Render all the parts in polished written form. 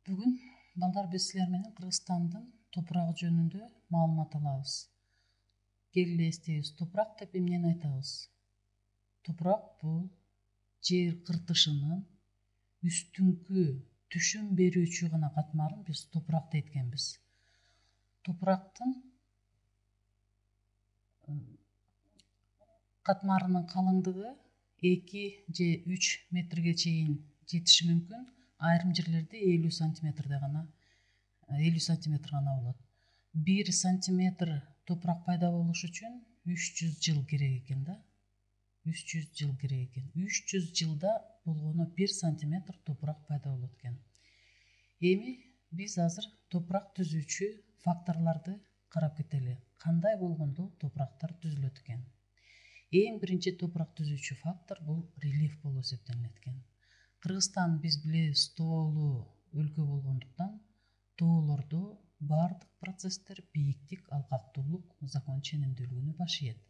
Бүгүн балдар биз силер менен Кыргызстандын топурагы жөнүндө маалымат алабыз. Келгиле эстейбиз. Топурак деп эмнени айтабыз? Топурак бул жер кыртышынын үстүңкү түшүм берүүчү гана катмарын биз топурак дейт экенбиз. Топурактын катмарынын калыңдыгы 2 же 3 метрге чейин жетиши мүмкүн. Айрым жерлерде 50 сантиметр гана болот. 1 сантиметр топурак пайда болуш үчүн 300 жыл керек экен да. 300 жыл керек экен. 300 жылда болгону 1 сантиметр топурак пайда болот экен. Эми биз азыр топурак түзүүчү факторлорду карап кетели. Кандай болгондо топурактар түзүлөт экен? Эң биринчи топурак түзүүчү фактор бул рельеф болуп эсептелинет экен. Кыргызстан биз билебиз тоолуу өлкө болгондуктан тоолордо баардык процесстер бийиктик, алкактуулук закон ченемдүүлүгүнө баш ийет.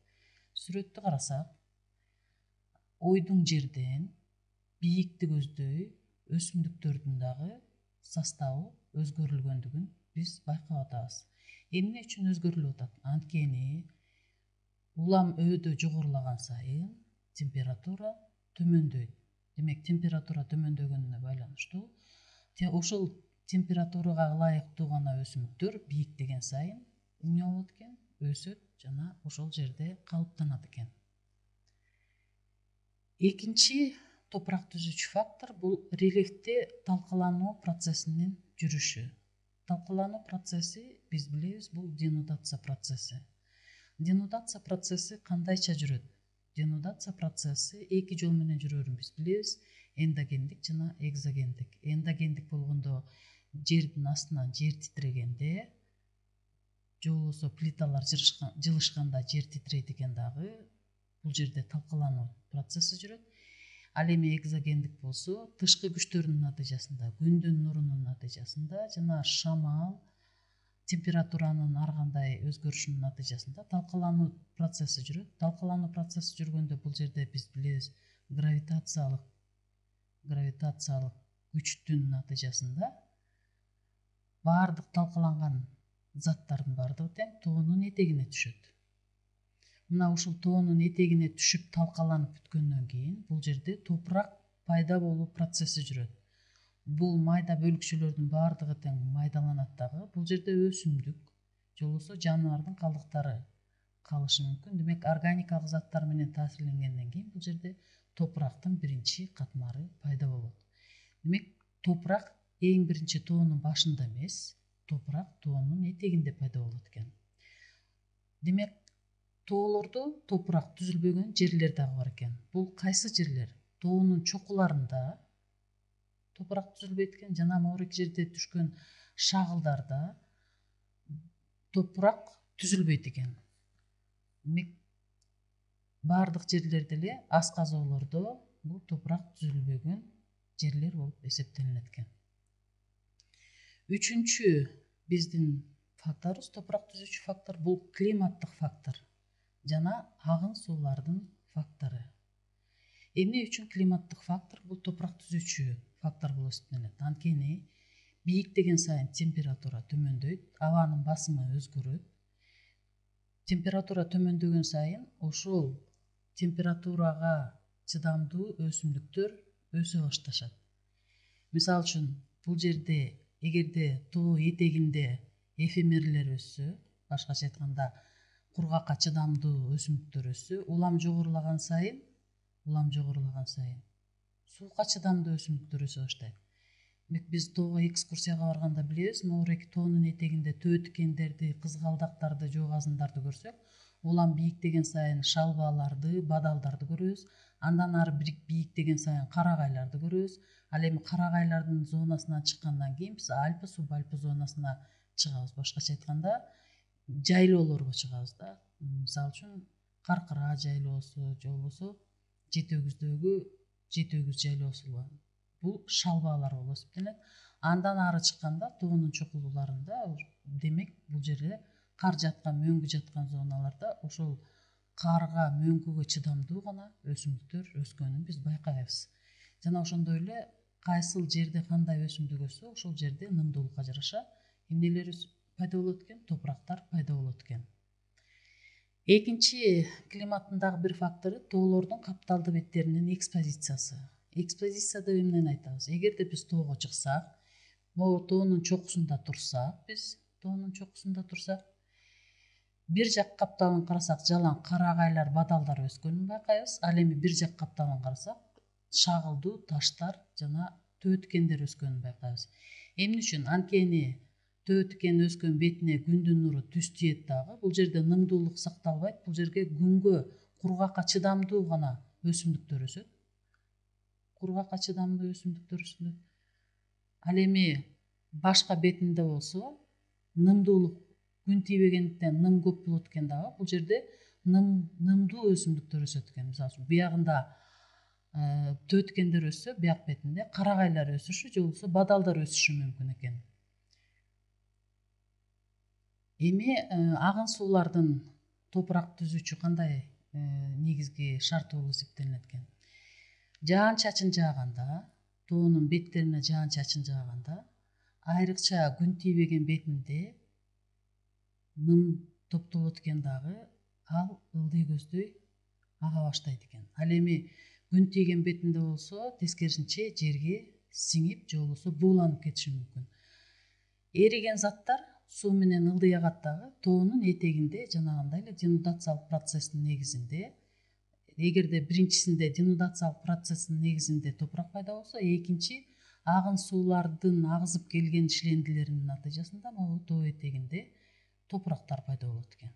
Сүрөттү карасак, ойдуң жерден бийикти көздөй өсүмдүктөрдүн дагы составы өзгөрүлгөндүгүн биз байкап атабыз. Эмне үчүн өзгөрүлүп атат? Анткени улам өөдө жогорулаган сайын температура төмөндөйт. Демек, температура төмөндөгөнүнө байланыштуу ошол температурага ылайыктуу гана өсүмдүктөр бийиктеген сайын эмне болот экен? Өсөт жана ошол жерде калыптанат экен. Экинчи топурак түзүүчү фактор бул рельефте талкалануу процессинин жүрүшү. Талкалануу процесси биз билебиз, бул денудация процесси. Денудация процесси кандайча жүрөт? Денудация процесси эки жол менен жүрөрүн биз билебиз. Эндогендик жана экзогендик. Эндогендик болгондо жердин астынан жер титрегенде, же болбосо плиталар жылышканда жер титрейт экен дагы, бул жерде талкалануу процесси жүрөт. Ал эми экзогендик болсо, тышкы күчтөрдүн натыйжасында, күндүн нурунун натыйжасында жана шамал, температуранын ар кандай өзгөрүшүнүн натыйжасында талкалануу процесси жүрөт. Талкалануу процесси жүргөндө бул жерде биз билебиз, гравитациялык күчтүн натыйжасында баардык талкаланган заттардын баардыгы тең тоонун этегине түшөт. Мына ушул тоонун этегине түшүп талкаланып бүткөндөн кийин бул жерде топурак пайда болуу процесси жүрөт. Бул майда бөлүкчөлөрдүн баардыгы тең майдаланат дагы. Бул жерде өсүмдүк же болбосо жаныбардын калдыктары калышы мүмкүн. Демек, органикалык заттар менен таасирленгенден кийин бул жерде топурактын биринчи катмары пайда болот. Демек, топурак эң биринчи тоонун башында эмес, топурак тоонун этегинде пайда болот экен. Демек, тоолордо топурак түзүлбөгөн жерлер дагы бар экен. Бул кайсы жерлер? Тоонун чокуларында топурак түзүлбөйт экен, жана моорки жерде түшкөн шагылдарда топурак түзүлбөйт экен. Демек, баардык жерлерде эле асказоолордо бул топурак түзүлбөгөн жерлер болуп эсептелинет экен. Үчүнчү биздин факторубуз, топурак түзүүчү фактор бул климаттык фактор жана агын суулардын фактору. Эмне үчүн климаттык фактор бул топурак түзүүчү фактор болуп эсептелинет? Анткени бийиктеген сайын температура төмөндөйт, абанын басымы өзгөрөт. Температура төмөндөгөн сайын ошол температурага чыдамдуу өсүмдүктөр өсө башташат. Мисалы үчүн, бул жерде эгерде тоо этегинде эфемерлер өссө, башкача айтканда кургакка чыдамдуу өсүмдүктөр өссө, улам жогорулаган сайын суукка чыдамдуу өсүмдүктөр өсө баштайт. Демек, биз тоого экскурсияга барганда билебиз, моорки тоонун этегинде төө тикендерди, кызгалдактарды, жоо казындарды көрсөк, улам бийиктеген сайын шалбаларды, бадалдарды көрөбүз. Андан ары бийиктеген сайын карагайларды көрөбүз. Ал эми карагайлардын зонасынан чыккандан кийин биз альпы, субальпы зонасына чыгабыз. Башкача айтканда, жайлоолорго чыгабыз да. Мисалы үчүн, Каркыра жайлоосу же болбосо Жети өгүз жайлоосу. Бул шалбалар болуп эсептелет. Андан ары чыкканда тоонун чокулууларында, демек, бул жерде кар жаткан, мөңгү жаткан зоналарда ошол карга, мөңгүгө чыдамдуу гана өсүмдүктөр өскөнүн биз байкайбыз. Жана ошондой эле кайсыл жерде кандай өсүмдүк өссө ошол жерде нымдуулукка жараша эмнелер пайда болот экен, топурактар пайда болот экен. Экинчи климаттын дагы бир фактору тоолордун капталдуу беттеринин экспозициясы. Экспозиция деп эмнени айтабыз? Эгерде биз тоого чыксак, могу тоонун чокусунда турсак, бир жак капталын карасак, жалаң карагайлар, бадалдар өскөнүн байкайбыз. Ал эми бир жак капталын карасак, шагылдуу таштар жана төөткендер өскөнүн байкайбыз. Эмне үчүн? Анткени төөткөн өскөн бетине күндүн нуру түз тиет дагы. Бул жерде нымдуулук сакталбайт. Бул жерге күнгө, кургакка чыдамдуу гана өсүмдүктөр өсөт. Ал эми башка бетинде болсо нымдуулук күн тийбегендиктен ным көп болот экен дагы. Бул жерде нымдуу өсүмдүктөр өсөт экен. Мисалы үчүн биягында төөткөндөр өссө, бияк бетинде карагайлар өсүшү же болбосо бадалдар өсүшү мүмкүн экен. Эми агын суулардын топурак түзүүчү кандай негизги шарты болуп эсептелинет экен? Жаан-чачын жааганда, тоонун беттерине жаан-чачын жааганда, айрыкча күн тийбеген бетинде ным топтолот экен дагы, ал ылдый көздөй ага баштайт экен. Ал эми күн тийген бетинде болсо, тескерисинче жерге сиңип же болбосо бууланып кетиши мүмкүн. Эриген заттар суу менен ылдый агат дагы тоонун этегинде жанагындай эле денудациялык процесстин негизинде. Эгерде биринчисинде денудациялык процесстин негизинде топурак пайда болсо, экинчи агын суулардын агызып келген шлендилеринин натыйжасында могу тоо этегинде топурактар пайда болот экен.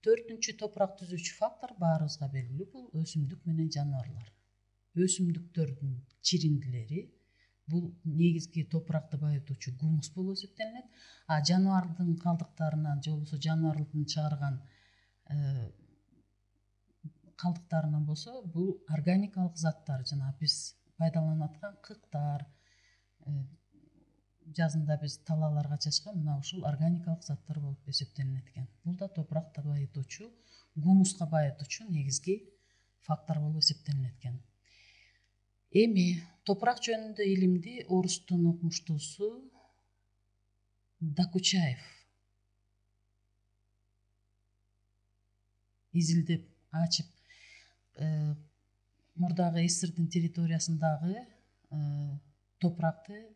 Төртүнчү топурак түзүүчү фактор баарыбызга белгилүү, бул өсүмдүк менен жаныбарлар. Өсүмдүктөрдүн чириндилери бул негизги топуракты байытуучу гумус болуп эсептелинет. А жаныбардын калдыктарынан же болбосо жаныбардын чыгарган калдыктарынан болсо, бул органикалык заттар, жана биз пайдаланып аткан кыктар, жазында биз талааларга чачкан мына ушул органикалык заттар болуп эсептелинет экен. Бул да топуракты байытуучу, гумуска байытуучу негизги фактор болуп эсептелинет экен. Эми топурак жөнүндө илимди орустун окумуштуусу Докучаев изилдеп ачып, мурдагы СССРдин территориясындагы топуракты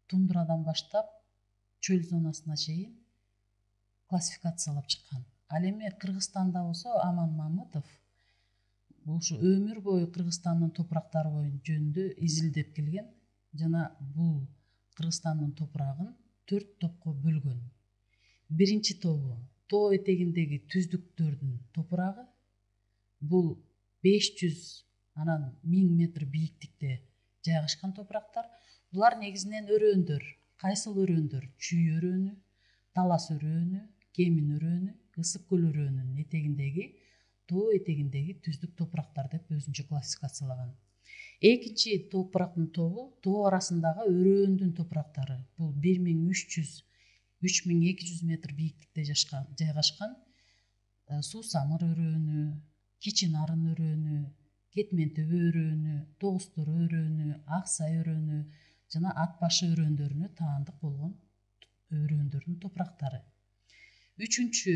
тундрадан баштап чөл зонасына чейин классификациялап чыккан. Ал эми Кыргызстанда болсо Аман Мамытов ушу өмүр бою Кыргызстандын топурактары жөнүндө изилдеп келген жана бул Кыргызстандын топурагын 4 топко бөлгөн. Биринчи тобу тоо этегиндеги түздүктөрдүн топурагы, бул 500 анан 1000 метр бийиктикте жайгашкан топурактар. Булар негизинен өрөөндөр. Кайсыл өрөөндөр? Чүй өрөөнү, талас өрөөнү, кемин өрөөнү, ысык көл өрөөнүнүн этегиндеги тоо этегиндеги түздүк топурактар деп өзүнчө классификациялаган. Экинчи топурактын тобу тоо арасындагы өрөөндүн топурактары. Бул 1300-3200 метр бийиктикте жайгашкан Суусамыр өрөөнү, Кичи Нарын өрөөнү, Кетмен төбө өрөөнү, Тогуз Тороо өрөөнү, Ак Сай өрөөнү жана Ат башы өрөөндөрүнө таандык болгон өрөөндөрдүн топурактары. Үчүнчү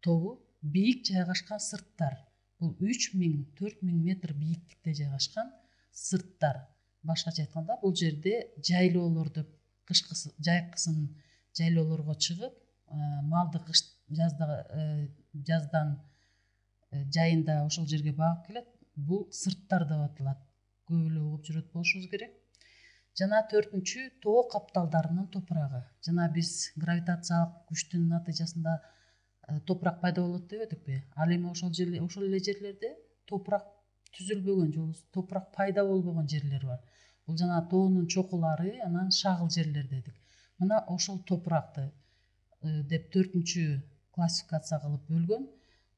тобу бийик жайгашкан сырттар. Бул 3000-4000 метр бийиктикте жайгашкан сырттар. Башкача айтканда, бул жерде жайлоолорду жайкысын жайлоолорго чыгып, малды жаздан жайында ошол жерге багып келет. Бул сырттар деп аталат. Көп эле угуп жүрөт болушубуз керек. Жана төртүнчү тоо капталдарынын топурагы. Жана биз гравитациялык күчтүн натыйжасында топурак пайда болот деп өтүкпү? Ал эми ошол эле жерлерде топурак түзүлбөгөн же топурак пайда болбогон жерлер бар. Бул жана тоонун чокулары, анан шагыл жерлер дедик. Мына ошол топуракты деп төртүнчү классификация кылып бөлгөн.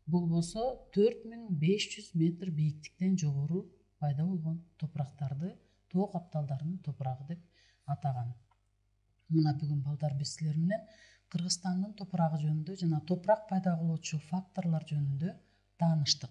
Бул болсо 4500 метр бийиктиктен жогору пайда болгон топурактарды тоо капталдарынын топурагы деп атаган. Мына бүгүн балдар биз силер менен Кыргызстандын топурагы жөнүндө жана топурак пайда кылуучу факторлор жөнүндө тааныштык.